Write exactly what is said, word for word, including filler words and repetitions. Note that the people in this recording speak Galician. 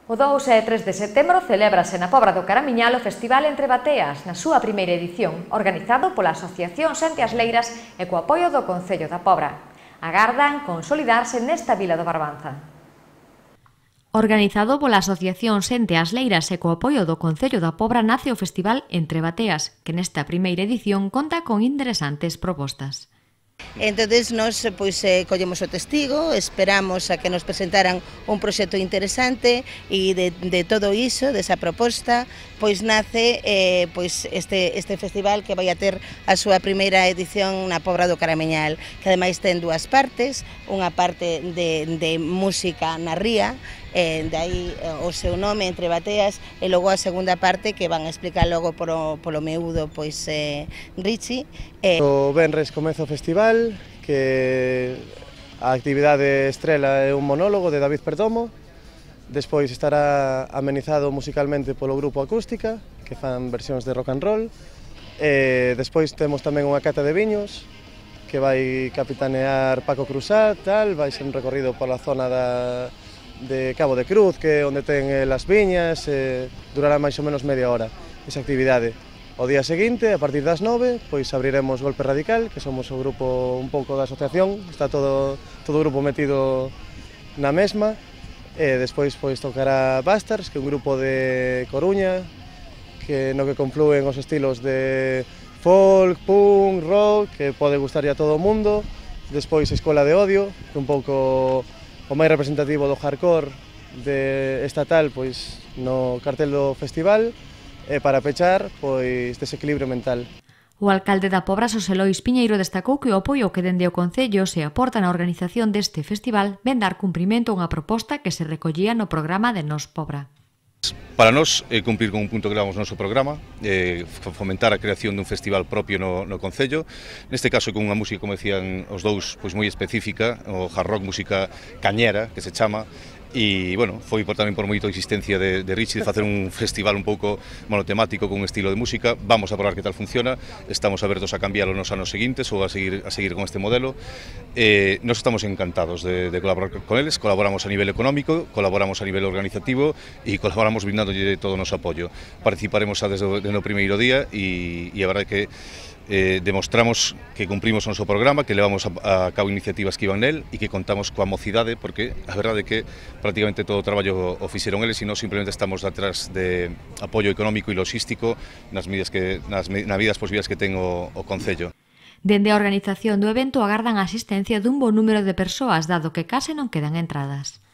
O dous e tres de setembro celébrase na Pobra do Caramiñal o Festival Entre Bateas, na súa primeira edición, organizado pola Asociación Xente Asleiras e co apoio do Concello da Pobra. Agardan consolidarse nesta vila do Barbanza. Organizado pola Asociación Xente Asleiras e co apoio do Concello da Pobra nace o Festival Entre Bateas, que nesta primeira edición conta con interesantes propostas. Entonces nos pois, eh, collemos o testigo, esperamos a que nos presentaran un proxecto interesante e de, de todo iso, desa proposta, pois nace eh, pois este, este festival que vai a ter a súa primeira edición na Pobra do Caramiñal, que ademais ten dúas partes, unha parte de, de música na ría, eh, de aí o seu nome, Entre Bateas, e logo a segunda parte que van a explicar logo polo, polo miúdo pois, eh, Richie. Eh. O venres comeza o festival, que a actividade estrela é un monólogo de David Perdomo, despois estará amenizado musicalmente polo grupo Acústica, que fan versións de rock and roll, e despois temos tamén unha cata de viños, que vai capitanear Paco Cruzat, tal, vai ser un recorrido pola zona da, de Cabo de Cruz, que é onde ten as viñas, e durará máis ou menos media hora esa actividade. O día seguinte, a partir das nove, pois abriremos Golpe Radical, que somos o grupo un pouco da asociación, está todo, todo o grupo metido na mesma, e despois pois tocará Bastards, que é un grupo de Coruña, que no que conflúen os estilos de folk, punk, rock, que pode gustar a todo o mundo, despois Escola de Odio, que é un pouco o máis representativo do hardcore de estatal pois no cartel do festival, e para pechar, pois, desequilibrio mental. O alcalde da Pobra, Xosé Lois Piñeiro, destacou que o apoio que dende o Concello se aporta na organización deste festival ven dar cumprimento a unha proposta que se recollía no programa de Nos Pobra. Para nós, é cumprir con un punto que levamos no noso programa, é fomentar a creación dun festival propio no, no Concello, neste caso con unha música, como decían os dous, pois moi específica, o hard rock, música cañera, que se chama, e, bueno, foi por, tamén por moita insistencia de, de Richie de facer un festival un pouco monotemático con un estilo de música. Vamos a probar que tal funciona, estamos abertos a cambiarlo nos anos seguintes ou a seguir, a seguir con este modelo. Eh, nos estamos encantados de, de colaborar con eles, colaboramos a nivel económico, colaboramos a nivel organizativo e colaboramos brindándolle todo o noso apoio. Participaremos xa desde, desde o primeiro día e, e a verdade que Eh, demostramos que cumprimos o noso programa, que levamos a, a cabo iniciativas que iban nel e que contamos coa mocidade, porque a verdade é que prácticamente todo o traballo o fixeron eles e nós simplemente estamos detrás de apoio económico e logístico nas medidas que, nas medidas posibles que ten o, o Concello. Dende a organización do evento agardan a asistencia dun bo número de persoas, dado que case non quedan entradas.